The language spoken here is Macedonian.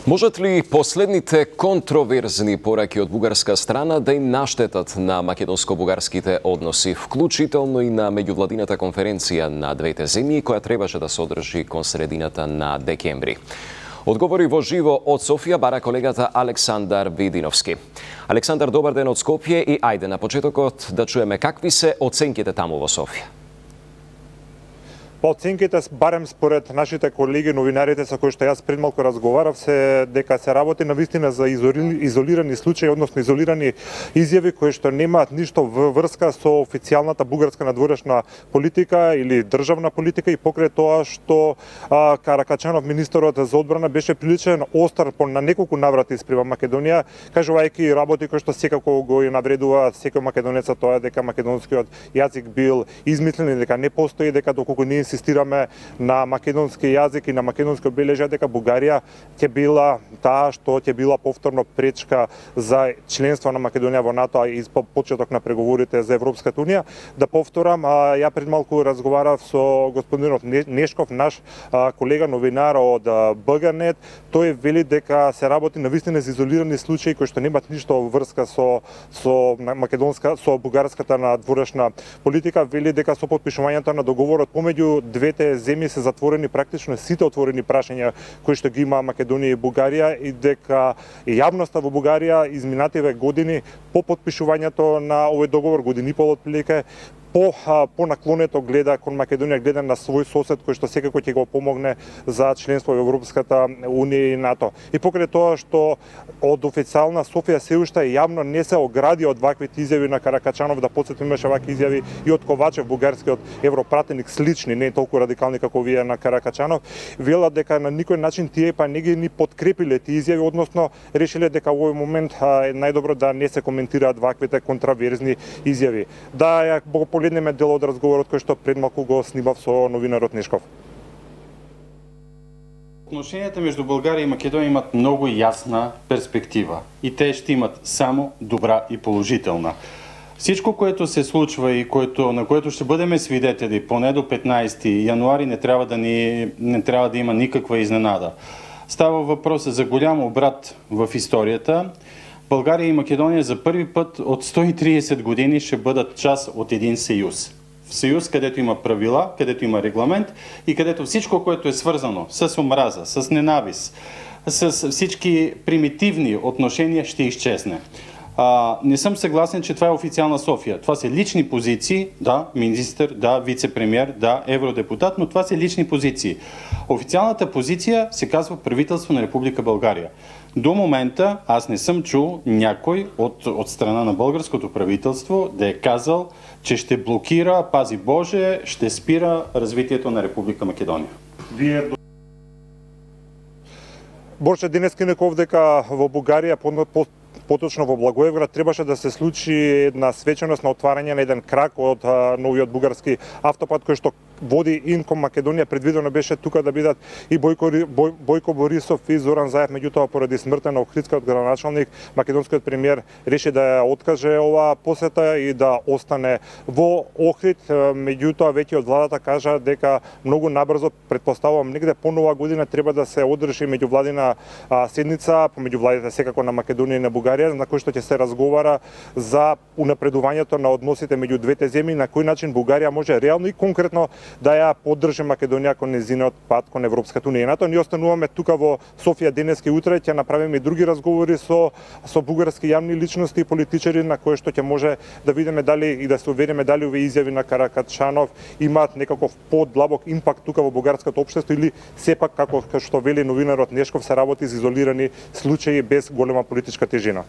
Можат ли последните контроверзни пораки од бугарска страна да им наштетат на македонско-бугарските односи, вклучително и на меѓувладината конференција на двете земји, која требаше да се одржи кон средината на декември? Одговори во живо од Софија бара колегата Александар Видиновски. Александар, добар ден од Скопје и ајде на почетокот да чуеме какви се оценките таму во Софија. По оценките, барем според нашите колеги новинарите со кои што јас пред малку разговарав, се дека се работи навистина за изолирани случаи, односно изолирани изјави кои што немаат ништо врска со официјалната бугарска надворешна политика или државна политика, и покрај тоа што Каракачанов, министерот за одбрана, беше приличен остар на неколку наврати спрема Македонија, кажувајќи работи кои што секако го навредува секој македонец, тоа е дека македонскиот јазик бил измислен и дека не постои, дека доколку ние инсистираме на македонски јазик и на македонски обележја, дека Бугарија ќе била таа што ќе била повторно пречка за членство на Македонија во НАТО и по почеток на преговорите за Европската унија. Да повторам, ја пред малку разговарав со господинот Нешков, наш колега новинар од БГ-нет. Тој вели дека се работи навистина за изолирани случаи кои што немаат ништо врска со бугарската надворешна политика. Вели дека со потпишувањето на договорот помеѓу двете земји се затворени практично сите отворени прашања кои што ги има Македонија и Бугарија, и дека јавноста во Бугарија изминативе години по потпишувањето на овој договор, години и пол отприлика, по наклонето гледа кон Македонија, гледа на свој сосед кој што секако ќе го помогне за членство во Европската унија и НАТО. И покрај тоа што од официјална Софија се уште јавно не се огради од ваквите изјави на Каракачанов, да потсетиме, имаше вакви изјави и од Ковачев, бугарскиот европратеник, слични, не толку радикални како вие на Каракачанов, велат дека на никој начин тие па не ги ни подкрепиле тие изјави, односно решиле дека во овој момент е најдобро да не се коментираат ваквите контраверзни изјави. Да ја погледнеме дел од разговорот кој што пред малку го снимав со новинарот Нешков. Отношенията между България и Македония имат много ясна перспектива и те ще имат само добра и положителна. Всичко, което се случва и на което ще бъдем свидетели поне до 15 януари, не трябва да има никаква изненада. Става въпрос за голям обрат в историята. България и Македония за първи път от 130 години ще бъдат част от един съюз. В съюз, където има правила, където има регламент и където всичко, което е свързано с омраза, с ненавист, с всички примитивни отношения, ще изчезне. Не съм съгласен, че това е официална София. Това са лични позиции, да, министър, да, вице-премьер, да, евродепутат, но това са лични позиции. Официалната позиция се казва правителство на Република България. До момента аз не съм чул някой от страна на българското правителство да е казал, че ще блокира, пази Боже, ще спира развитието на Република Македония. Борче денеска неков дека во Бугарија, поточно во Благоевград, требаше да се случи една свеченост на отварање на еден крак од новиот бугарски автопат кој што води ин кон Македонија. Предвидено беше тука да бидат и Бојко Борисов и Зоран Заев, меѓутоа поради смртта на Охридскиот градоначалник, македонскиот премиер реши да ја откаже оваа посета и да остане во Охрид. Меѓутоа веќе од владата кажа дека многу набрзо, предпоставувам негде по нова година, треба да се одржи меѓувладина седница помеѓу владите секако на Македонија и на Бугарија, на кој што ќе се разговара за унапредувањето на односите меѓу двете земји, на кој начин Бугарија може реално и конкретно да ја поддржи Македонија кон нејзиниот пат кон Европската унија. Нато ние остануваме тука во Софија денеска и утре, ќе направиме и други разговори со бугарски јавни личности и политичари, на кои што ќе може да видиме дали и да се увериме дали овие изјави на Каракачанов имаат некаков подлабок импакт тука во бугарското општество, или сепак, како што вели новинарот Нешков, се работи за изолирани случаи без голема политичка тежина.